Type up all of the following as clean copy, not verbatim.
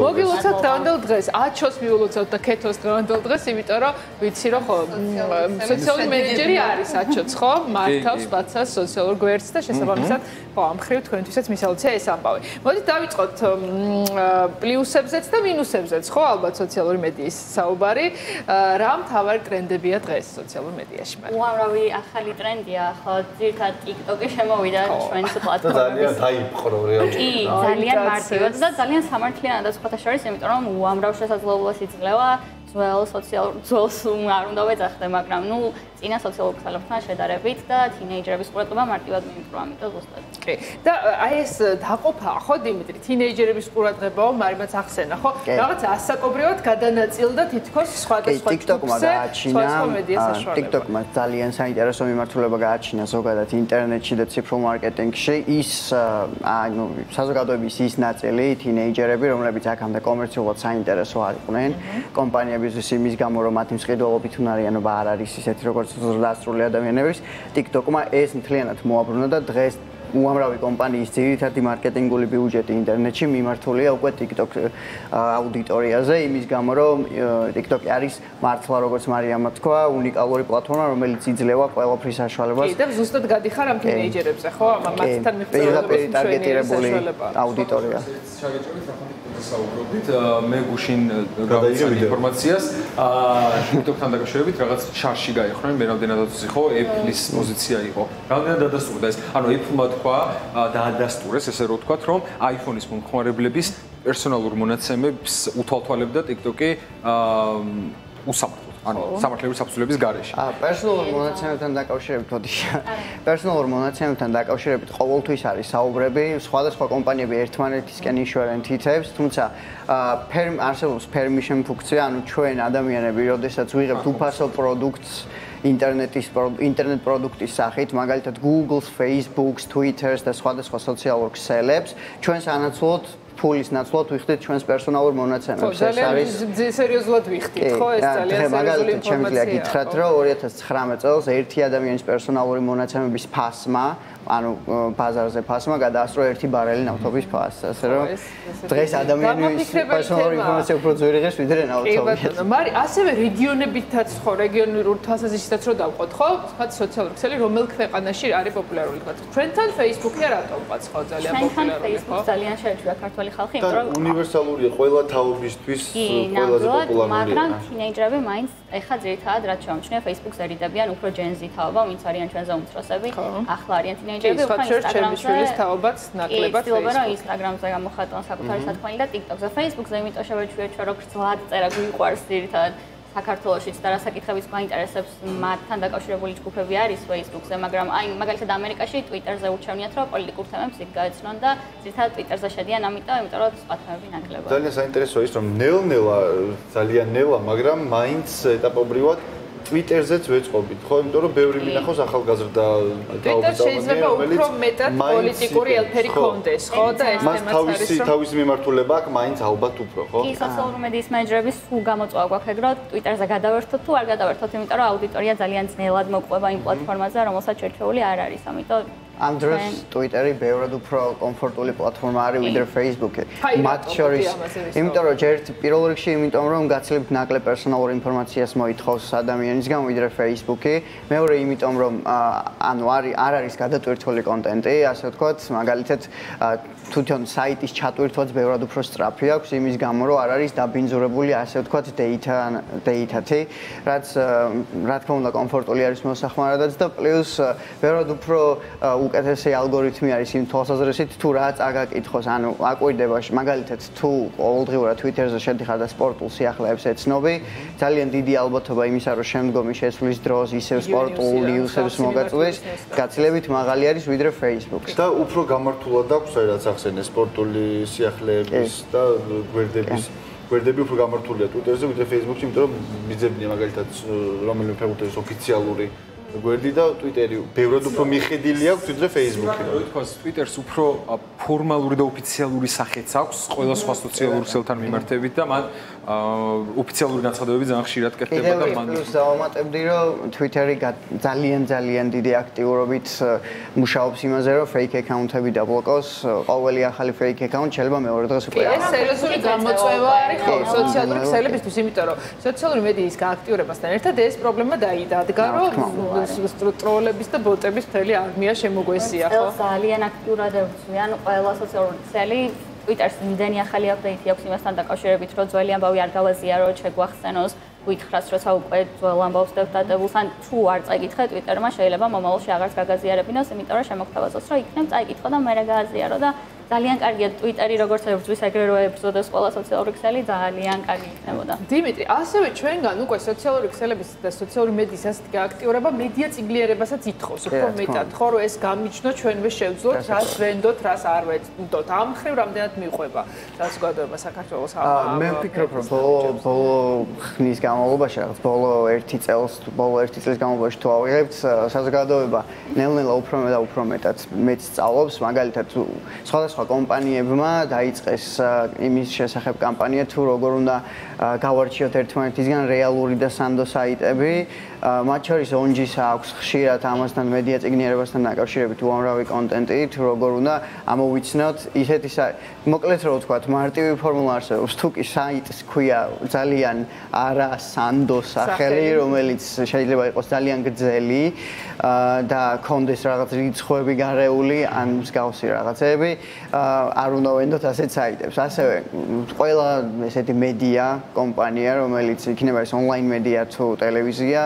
მოგილოცავთ დღევანდელ დღეს, აჩოს მიულოცავთ და ქეთოს დღევანდელ დღეს, იმიტომ რომ ვიცი რომ ხო, სოციალური მენეჯერი არის აჩოც, ხო? მართავს ბაცას სოციალურ გვერდს და შესაბამისად, ხო, ამ ხრივ თქვენთვისაც მისაუცია ეს ამბავი. მოდით დავიწყოთ პლუსებზეც და მინუსებზეც, ხო, ალბათ სოციალური მედიის საუბარი. რა მთავარი ტრენდებია დღეს სოციალურ მედიაში? უამრავი ახალი ტრენდია, ხო, ძირითადად TikTok-ი შემოვიდა ჩვენს პლატფორმაზე. ძალიან დაიპყრო რეალურად. ძალიან მარტივად და ძალიან სამართლიანად სხვათა შორის, იმიტომ რომ უამრავ შესაძლებლობას იძლევა ძველს არ უნდა ვეძახდე, მაგრამ ნუ წინა სოციალურ ქსელებთან შედარებით და თინეიჯერების ყურადღება მარტივად მიიპყრო, ამიტომ ზუსტად. კი. და აი ეს დაყოფა, ხო, დიმიტრი, თინეიჯერების ყურადღებაო, მარიმაც ახსენა, ხო? რაღაც ასაკობრივად გადანაწილდა თითქოს სხვადასხვა TikTok-მა გააჩინა, TikTok-მა ძალიან საინტერესო მიმართულება გააჩინა ზოგადად ინტერნეტში და ციფრულ მარკეტინგში. ის ანუ საზოგადოების ის ნაწილი, თინეიჯერები, რომლებიც აქამდე კომერციულად საინტერესო არ იყვნენ, კომპანიებისთვის იმის გამო, რომ მათი მსყიდველობით უნარიანობა არ არის ისეთი, როგორც ზრდასრული ადამიანების, TikTok-მა ეს მთლიანად მოაბრუნა და დღეს უამრავი კომპანიის ძირითადი მარკეტინგული ბიუჯეტი ინტერნეტში მიმართულია უკვე TikTok აუდიტორიაზე, იმის გამო, რომ TikTok-ი არის მართლა, როგორც მარიამმა თქვა, უნიკალური პლატფორმა, რომელიც იძლევა ყველაფრის საშუალებას. კი, და ზუსტად გადიხარ ამ თინეიჯერებზე, ხო? მათთან პირდაპირ ტარგეტირებული აუდიტორია. საუბრობდით, მე გუშინ გავიცანი ინფორმაციას, TikTok-თან დაკავშირებით რაღაც შარში გაიხსნენ, მე რამდენადაც იყო, Apple-ის პოზიცია იყო. რამდენად დადასტურდა ეს? ანუ Apple-მა თქვა, დაადასტურეს, ესე რომ ვთქვათ, რომ iPhone-ის მომხმარებლების პერსონალურ მონაცემებს უთვალთვალებდა TikTok-ი უსამართლოდ. ანუ სამართლებრივი საფუძვლების გარეშე. პერსონალურ მონაცემებთან დაკავშირებით პერსონალურ მონაცემებთან დაკავშირებით ყოველთვის არის საუბრები, სხვადასხვა კომპანიები ერთმანეთისკენ იშვერენ თითებს, თუმცა არსებობს permission ფუნქცია, ანუ ჩვენ ადამიანები, როდესაც ვიღებთ უფასო პროდუქტს ინტერნეტ პროდუქტის სახით, მაგალითად Google-ს, Facebook-ს, Twitter-ს და სხვადასხვა სოციალურ ქსელებს, ჩვენს ანაცვლოდ ფულის ნაცვლად ვიხდით ჩვენს პერსონალურ მონაცემებს. ეს არის სერიოზულად ვიხდით, ხო, ეს ძალიან სერიოზული ინფორმაცია. შემიძლია გითხრათ, რომ 2019 წელს ერთი ადამიანის პერსონალური მონაცემების ფასმა, ანუ ბაზარზე ფასმა გადაასწრო 1 ბარელი ნავთობის ფასს, ასე რომ დღეს ადამიანის პერსონალური ინფორმაცია უფრო ძვირი ღირს ვიდრე ნავთობი. კი ბატონო, მაგრამ ასევე რეგიონებითაც ხო, რეგიონულ თვალსაზრისითაც რო დავყოთ, ხო, სხვა სოციალური ქსელი რომელ ქვეყანაში არის პოპულარული, თქვა. ჩვენთან Facebook-ი რატომ ყავს ხო ძალიან პოპულარული, ხო? ძალიან შეეჩვია ქართული ხალხი, იმიტომ რომ უნივერსალურია ყველა თაობისთვის ყველაზე პოპულარულია. მაგრამ თინეიჯერები მაინც ეხა ძირითადად რაც შევამჩნია Facebook-ზე რიდებიან უფრო Gen Z თაობა, ვინც არიან ჩვენზე უმცროსები, ახლა არიან თინეიჯერები, ჩემი შვილის თაობაც ნაკლებად Facebook-ზე, Instagram-ზე გამოხატონ საკუთარი სათქმელი და TikTok-ზე, Facebook-ზე, იმიტომ შევეჩვიეთ, რომ გრძლად წერა გვიყვარს ძირითადად საქართველოშიც და რასაკითხებიც გვაინტერესებს მათთან დაკავშირებული ჯგუფები არის Facebook-ზე, მაგრამ აი მაგალითად ამერიკაში Twitter-ზე ურჩევნიათ, რომ პოლიტიკურ თემებს იქ გაეცნონ და ძირითადად Twitter-ზე შედიან, იმიტომ რომ სხვა თემები ნაკლებად. ძალიან საინტერესოა ის, რომ ნელ-ნელა, ძალიან ნელა, მაგრამ მაინც ეტაპობრივად Twitter-ზეც ვეწყობით, ხო, იმიტომ რომ ბევრი მინახავს ახალგაზრდა თაობის შეიძლება უფრო მეტად პოლიტიკური ელფერი კონდეს, ხო, და ეს თემაც არის რომ თავისი მიმართულება აქვს მაინც ალბათ უფრო, ხო? კი, სოციალური მედიის მენეჯერების სულ გამოწვევა გვაქვს ეგ, რომ Twitter-ზე გადავერთოთ თუ არ გადავერთოთ, იმიტომ რომ აუდიტორია ძალიან ძნელად მოყვება იმ პლატფორმაზე, რომელსაც შერჩეული არ არის, ამიტომ ამ დროს Twitter-ი ბევრად უფრო კომფორტული პლატფორმა არის ვიდრე Facebook-ი. მათ შორის, იმიტომ რომ პირველ რიგში, იმიტომ რომ გაცილებით ნაკლებ პერსონალურ ინფორმაციას მოითხოვს ადამიანისგან ვიდრე Facebook-ი. მეორე, იმიტომ რომ ანუ არ არის გადატვირთული კონტენტი, ასე ვთქვათ, მაგალითად თვითონ საიტის ჩატვირთვაც ბევრად უფრო სწრაფი აქვს, იმის გამო რომ არ არის დაბინძურებული, ასე ვთქვათ, data-ი, რაც რა თქმა უნდა კომფორტული არის მოსახმარადაც და პლუს ბევრად უფრო უკეთესი ალგორითმი არის იმ თვალსაზრისით თუ რა წაგაკითხოს, ანუ აკვირდება მაგალითად თუ ყოველდღიურად Twitter-ზე შედიხარ და სპორტულ სიახლეებს ეცნობი, ძალიან დიდი ალბათობა იმისა, რომ შემდგომი შესვლის დროს ისევ სპორტულ ნიუსებს მოგაწვდის, გაცილებით მაღალი არის ვიდრე Facebook-ი. და უფრო გამართულად აქვს აი რაც ახსენე სპორტული სიახლეების და გვერდები უფრო გამართულია Twitter-ზე ვიდრე Facebook-ში, იმიტომ რომ მიძებნია მაგალითად რომელიმე ფეხბურთელის ოფიციალური გვერდი და Twitter-ი ბევრად უფრო მიხედილი აქვს ვიდრე Facebook-ი. თქოს Twitter-ს უფრო ფორმალური და ოფიციალური სახეც აქვს ყველა სხვა სოციალური ქსელთან მიმართებით და მან ოფიციალური განცხადებები ძალიან ხშირად კეთდება და მან დავამატებდი რომ Twitter-ი ძალიან დიდი აქტიურობით მუშაობს იმაზე რომ fake account-ები დაბლოკოს ყოველი ახალი fake account შეიძლება მეორე დღეს უკვე ეს სერიოზული გამოწვევა არის ხო სოციალური ქსელებისთვის იმიტომ რომ სოციალური მედიის გააქტიურებასთან ერთად ეს პრობლემა დაიდადგა რომ ტროლების და ბოტების მთელი არმია შემოგვესია ხო ძალიან აქტიურად ებრძვიან ყველა სოციალური ქსელი Twitter-ს იმდენი ახალი აპდეიტი აქვს იმასთან დაკავშირებით, რომ ძველი ამბავი არ გავაზიაროთ, შეგვახსენოს, გითხრას, როცა უკვე ძველ ამბავს დევტატებულს, ან თუ არ წაიკითხე Twitter-მა, შეიძლება მომავალში აღარც გაგაზიარებინოს, იმიტომ რომ შემოგთავაზოს, რომ იქნებ წაიკითხო და მერე გააზიარო და ძალიან კარგია Twitter-ი როგორც ებრძვის, ეგრე რომ ებრძოდეს ყველა სოციალური ქსელი, ძალიან კარგი იქნებოდა. დიმიტრი, ასევე ჩვენგან უკვე სოციალური ქსელების და სოციალური მედიის ასეთი გააქტიურება მედია წიგლიერებასაც ითხოვს. უფრო მეტად, ხო, რომ ეს გამიჩნო ჩვენვე შევძლოთ, რას ვენდოთ, რას არ ვენდოთ. ამ ხრივ რამდენად მიყვება საზოგადოება საქართველოს მე ვფიქრობ, რომ ბოლო ხნის განმავლობაში, რაღაც ბოლო 1 წლის განმავლობაში თუ ავიღებთ, საზოგადოება ნელ-ნელა უფრო მეტად მეც სწავლობს, მაგალითად სხვადასხვა კომპანიებმა დაიწყეს იმის შესახებ კამპანია თუ როგორ უნდა გავარჩიოთ ერთმანეთისგან რეალური და სანდო საიტები მათ შორის ONG-ს აქვს ხშირად ამასთან მედია წიგნიერებასთან დაკავშირებით უამრავი კონტენტი თუ როგორ უნდა ამოვიცნოთ ისეთი მოკლედ რო ვთქვათ მარტივი ფორმულა არსებობს თუ კი საიტს ქვია ძალიან არა სანდო სახელი რომელიც შეიძლება იყოს ძალიან გრძელი და კონდეს რაღაც რიცხვები გარეული ან მსგავსი რაღაცები არ უნდა ვენდოთ ასეთ საიტებს. ასევე ყველა ესეთი მედია კომპანია, რომელიც იქნება ეს ონლაინ მედია თუ ტელევიზია,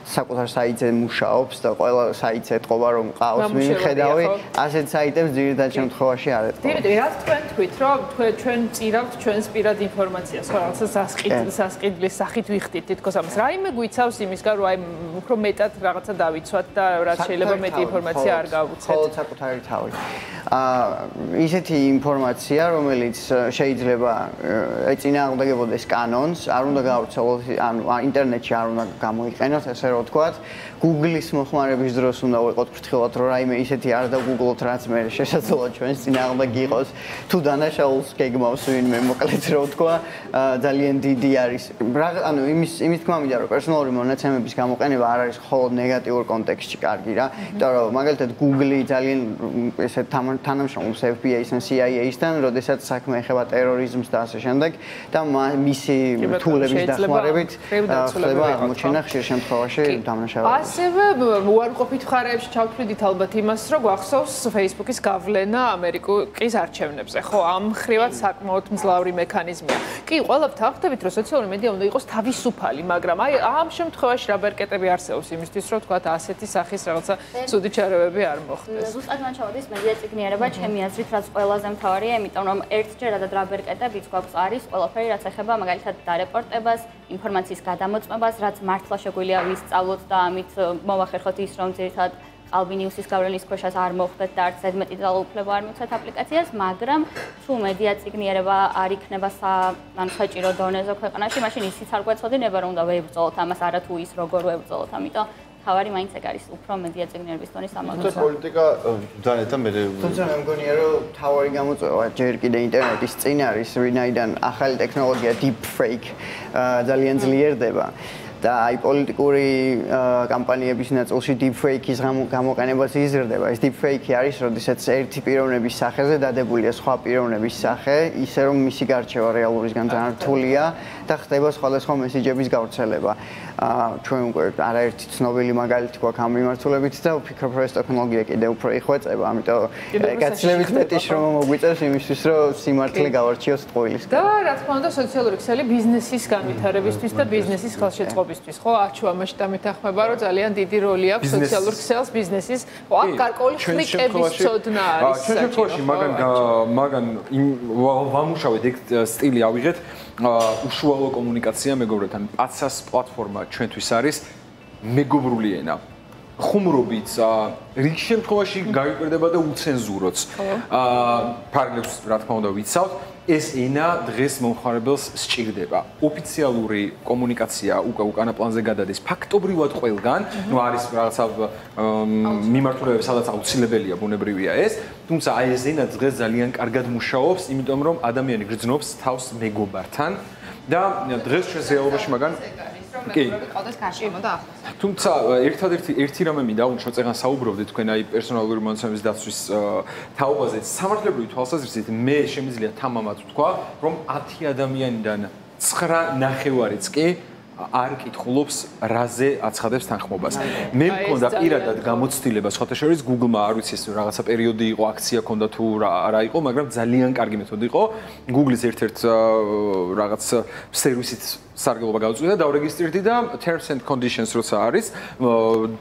საკუთარ საიტზე მუშაობს და ყველა საიტს ეთყობა რომ ყავს მიხედავი, ასეთ საიტებს ძირითად შემთხვევაში არ ეთყობა. დიმიტრი, რაც თქვენ თქვით, რომ ჩვენ წირავთ ჩვენს პირად ინფორმაციას, ხო, რაღაცა სასყიდლის სახით ვიხდით თითქოს ამას. რაიმე გვიცავს იმისგან, რომ აი უფრო მეტად რაღაცა დავიცვათ და რაც შეიძლება მეტი ინფორმაცია არ გავუცეთ. ხო, საკუთარი თავი. ისეთი ინფორმაცია, რომელიც შეიძლება ეწინააღმდეგებოდეს კანონს, არ უნდა გავრცელოთ, ანუ ინტერნეტში არ უნდა გამოიყენოთ, ესე რომ ვთქვათ, Google-ის მოხმარების დროს უნდა ვიყოთ ფრთხილად, რომ რაიმე ისეთი არ დაგუგლოთ, რაც მე შესაძლოა ჩვენს წინააღმდეგ იყოს, თუ დანაშაულს გეგმავს ვინმე, მოკლედ რომ ვთქვა, ძალიან დიდი არის. ანუ იმის თქმა მინდა, რომ პერსონალური მონაცემების გამოყენება არ არის მხოლოდ ნეგატიურ კონტექსტში კარგი რა, იმიტომ რომ მაგალითად Google-ი ძალიან ესე თანამშრომლობს FBI-სთან, CIA-სთან, როდესაც საქმე ეხება ტერორიზმს და ასე შემდეგ და მისი რთულების დახმარებით ხდება აღმოჩენა ხშირ შემთხვევაში დამნაშავეების. ასევე უარყოფით მხარეებში ჩავთვლიდით ალბათ იმას, რომ გვახსოვს Facebook-ის გავლენა ამერიკის არჩევნებზე, ხო, ამ ხრივად საკმაოდ მძლავრი მექანიზმია. კი, ყველაფერთ აღხდებით, რომ სოციალური მედია უნდა იყოს თავისუფალი, მაგრამ აი ამ შემთხვევაში რა ბერკეტები არსებობს იმისთვის, რომ თქვათ ასეთი სახის რაღაცა ცუდი ჩარევები არ მოხდეს. ზუსტად მან ჩავდის მედია წიგნიერება, ჩემი აზრით, რაც ყველაზე მთავარია, იმიტომ რომ ერთჯერადად რა ბერკეტებიც გვაქვს არის ყველაფერი, რაც ეხება მაგალითად დარეპორტებას, ინფორმაციის გადამოწმებას, რაც მართლა შეგვიძლია ვისწავლოთ და ამით მოვახერხოთ ის, რომ ძირითადად ალბინიუსის გავლენის ქვეშაც არ მოხვდეთ და არც ზედმეტი ძალაუფლება არ მივცეთ აპლიკაციას, მაგრამ თუ მედია წიგნიერება არ იქნება ანუ საჭირო დონეზე ქვეყანაში, მაშინ ისიც არ გვეცოდინება, რომ უნდა ვებრძოლოთ ამას, არა თუ ის როგორ ვებრძოლოთ, ამიტომ თავარი მაინც ეგ არის უფრო მედია წიგნიერების დონის ამოწურვა. პოლიტიკა ძალიან მე თუმცა მე მგონია რომ თავარი გამოწვევა ჯერ კიდე ინტერნეტის წინ არის, ვინაიდან ახალი ტექნოლოგია deep fake ძალიან ძლიერდება. და აი პოლიტიკური კამპანიების ნაწილში deepfake-ის გამოყენებაც იზრდება. ეს deepfake-ი არის, როდესაც ერთი პიროვნების სახეზე დადებულია სხვა პიროვნების სახე, ისე რომ მისი გარჩევა რეალურისგან ძალიან რთულია და ხდება სხვადასხვა მესიჯების გავრცელება. ჩვენ უკვე არაერთი ცნობილი მაგალითი გვაქვს ამ მიმართულებით და ვფიქრობ, რომ ეს ტექნოლოგია კიდევ უფრო იხვეწება, ამიტომ გაცილებით მეტი შრომა მოგვიწევს იმისთვის, რომ სიმართლე გავარჩიოს ტყუილისგან. და რა თქმა უნდა, სოციალური ქსელი ბიზნესის განვითარებისთვის და ბიზნესის ხელშეწყობისთვის, ხო, არჩევა მასშტაბით ახმება, რომ ძალიან დიდი როლი აქვს სოციალურ ქსელს ბიზნესის, ხო, აქ გარკვეული ხლიკების ცოდნა არის. ჩვენ შემთხვევაში მაგან ვამუშავეთ ეგ სტილი ავიღეთ, უშუალო კომუნიკაცია მეგობრებთან, პაცას პლატფორმა ჩვენთვის არის მეგობრული ენა. ხუმრობით რიგ შემთხვევაში გაიკვირდება და უცენზუროც. ფარგლებს რა თქმა უნდა ვიცავთ, ეს ენა დღეს მომხმარებელს სჭირდება. ოფიციალური კომუნიკაცია უკანა პლანზე გადადის ფაქტობრივად ყველგან, ნუ არის რაღაცა მიმართულებები, სადაც აუცილებელია, ბუნებრივია ეს, თუმცა აი ეს ენა დღეს ძალიან კარგად მუშაობს, იმიტომ რომ ადამიანი გრძნობს თავს მეგობართან და დღეს ჩვენს რეალობაში მაგან კი. თუმცა ერთი რამე მინდა უშო წეგან საუბრობდით თქვენ აი პერსონალური მონაცემების დაცვის თაობაზე სამართლებრივი თვალსაზრისით მე შემიძლია თამამად ვთქვა რომ 10 ადამიანიდან 9.5-იც კი არ კითხულობს რაზე აცხადებს თანხმობას. მე მქონდა პირადად გამოცდილება სხვათა შორის Google-მა არ ვიცი ეს რაღაცა პერიოდი იყო, აქცია ქონდა თუ რა იყო, მაგრამ ძალიან კარგი მეთოდი იყო. Google-ის ერთ-ერთ რაღაც სერვისით სარგებლობა გავუწევდი და დავრეგისტრირდი და terms and conditions როცა არის,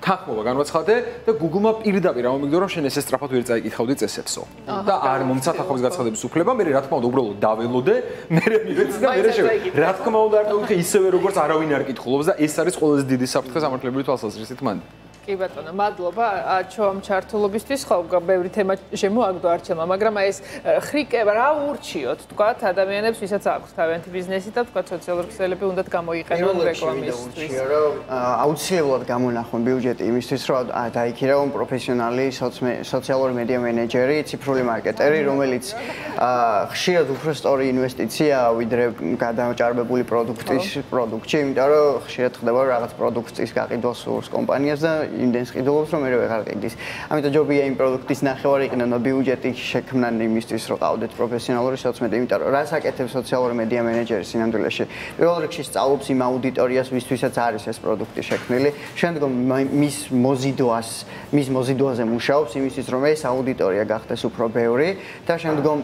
თანხმობა განვაცხადე და Google-მა პირდაპირ ამომიგდო რომ შენ ესე სწრაფად ვერ წაიკითხავდი წესებსო. და არ მომცა თანხმობის გაცხადების უფლება, მე რა თქმა უნდა უბრალოდ დაველოდე, მე მივეცი და მე შევედი. რა თქმა უნდა არ დავიქე ისევე როგორც არავინ არ კითხულობს და ეს არის ყველაზე დიდი საფრთხე სამართლებრივი თვალსაზრისით მანდ. კი ბატონო, მადლობა ჩვენს ჩართულობისთვის. ხო, ბევრი თემა შემოაგდო არჩევმა, მაგრამ აი ეს ხრიკება რა ურჩიოთ, თქვათ, ადამიანებს, ვისაც აქვს თავიანთი ბიზნესი და თქვათ სოციალური ქსელები უნდათ გამოიყენონ რეკლამისთვის. აუცილებლად გამონახონ ბიუჯეტი იმისთვის, რომ დაიქირავონ პროფესიონალი სოციალური მედია მენეჯერი, ციფრული მარკეტერი, რომელიც ხშირად უფრო სწორი ინვესტიცია ვიდრე გადაჭარბებული პროდუქტში, იმიტომ რომ ხშირად ხდება რაღაც პროდუქტის გაყიდვა სურს კომპანიას და იმდენს ყიდულობს რომ მე ვეღარ ყიდის. ამიტომ ჯობია იმ პროდუქტის ნახევარი იყიდონ და ბიუჯეტი შექმნან იმისთვის რომ ყავდეთ პროფესიონალური სოციმედია, იმიტომ რომ რას აკეთებს სოციალური მედია მენეჯერი სინამდვილეში. პირველ რიგში სწავლობს იმ აუდიტორიას, ვისთვისაც არის ეს პროდუქტი შექმნილი. შემდგომ მის მოზიდვაზე მუშაობს იმისთვის რომ ეს აუდიტორია გახდეს უფრო ბევრი და შემდგომ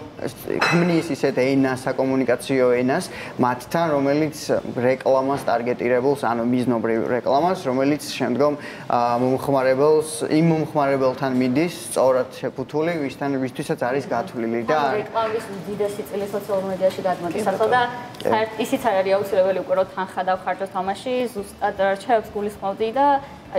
ქმნის ისეთ ენას, საკომუნიკაციო ენას მათთან, რომელიც რეკლამას ტარგეტირებულს, ანუ მიზნობრივ რეკლამას, რომელიც შემდგომ იმ მომხმარებელთან მიდის სწორად შეფუთული, ვისთვისაც არის გათვლილი და რეკლამის უდიდესი წილი სოციალურ მედიაში გადმოდის. ახლა და ისიც არ არის აუცილებელი უკვე რომ თანხა დავხარჯო თამაში, ზუსტად რჩევებს გულისხმობდი და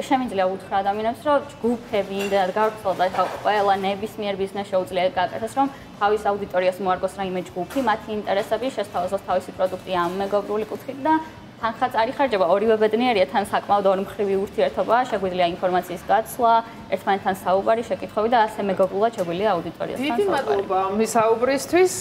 შემიძლია უთხრა ადამიანებს, რომ ჯგუფები იმდენად გავრცელდა, ხა ყველა ნებისმიერ ბიზნესს შეუძლია გაკეთდეს, რომ თავის აუდიტორიას მოარგოს რაიმე ჯგუფი, მათი ინტერესები შესთავაზოს თავისი პროდუქტი ამ მეგობრული კუთხით და თანხაც არ იხარჯება, ორივე ბედნიერია, თან საკმაოდ ორმხრივი ურთიერთობაა, შეგვიძლია ინფორმაციის გაცვლა, ერთმანეთთან საუბარი, შეკითხვები და ასე მეგობრულად შეგვიძლია აუდიტორიასთან საუბარი. დიდი მადლობა მის საუბრისთვის.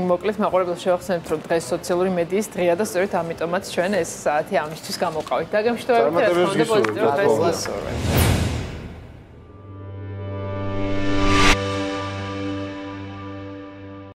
მოკლედ მაყურებელს შევახსენებთ, რომ დღეს სოციალური მედიის დღეა და სწორედ ამიტომაც ჩვენ ეს საათი ამისთვის გამოვყავით. დაგემშვიდობებით, რა თქმა უნდა, პოზიტიურ დღეს.